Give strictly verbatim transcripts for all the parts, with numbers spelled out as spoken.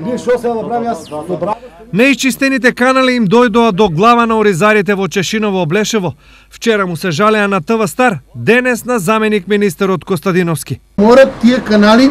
Ние што се да правим, јас добра. Неисчистените канали им дојдоа до глава на оризарите во Чешиново Облешево. Вчера му се жалеа на ТВ Стар, денес на заменик министерот Костадиновски. Морат тие канали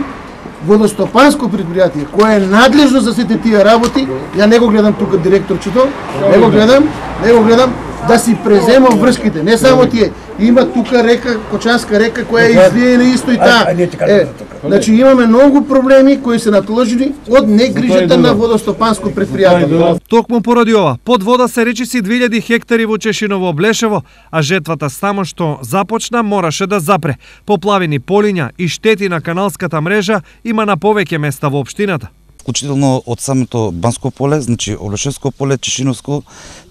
водостопанско предпријатие кое е надлежно за сите тие работи, ја не го гледам тука директорчето, не го гледам, не го гледам да си презема врските, не само тие. Има тука река, Кочанска река која е излиена исто и таа. Е, значи имаме многу проблеми кои се натложени од негрижата на водостопанско предпријатие. Токму поради ова, под вода се речиси две илјади хектари во Чешиново Облешево, а жетвата само што започна мораше да запре. Поплавени полиња и штети на каналската мрежа има на повеќе места во општината. Вклучително од самото Банско поле, значи Облешевско поле, Чешиновско,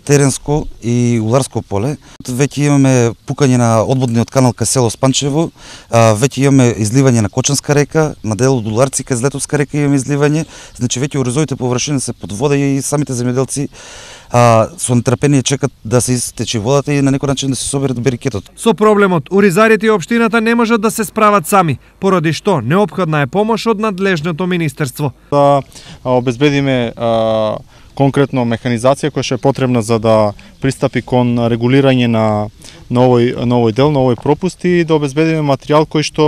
Теренско и Уларско поле. Веќе имаме пукање на одводниот канал кај село Спанчево, веќе имаме изливање на Кочанска река, на дел од Уларци кај Злетовска река имаме изливање, значи веќе оризовите површини се под вода и самите земјоделци а, со нетрпение чекат да се истече водата и на некој начин да се соберат берикетот. Со проблемот, оризарите и општината не можат да се справат сами, поради што неопходна е помош од надлежното министерство. Да обезбедиме а, конкретно механизација која ќе е потребна за да пристапи кон регулирање на, на, овој, на овој дел, на овој пропуст и да обезбедиме материјал кој што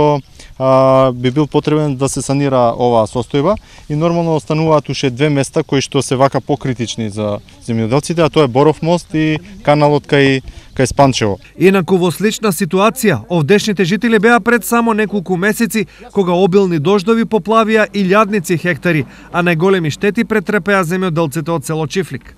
а, би бил потребен да се санира оваа состојба и нормално остануваат уште две места кои што се вака покритични за земјоделците, а тоа е Боров мост и каналот кај кај Спанчево. Инаку во слична ситуација, овдешните жители беа пред само неколку месеци кога обилни дождови поплавија илјадници хектари, а најголеми штети претрпеа земјоделците од село Чифлик.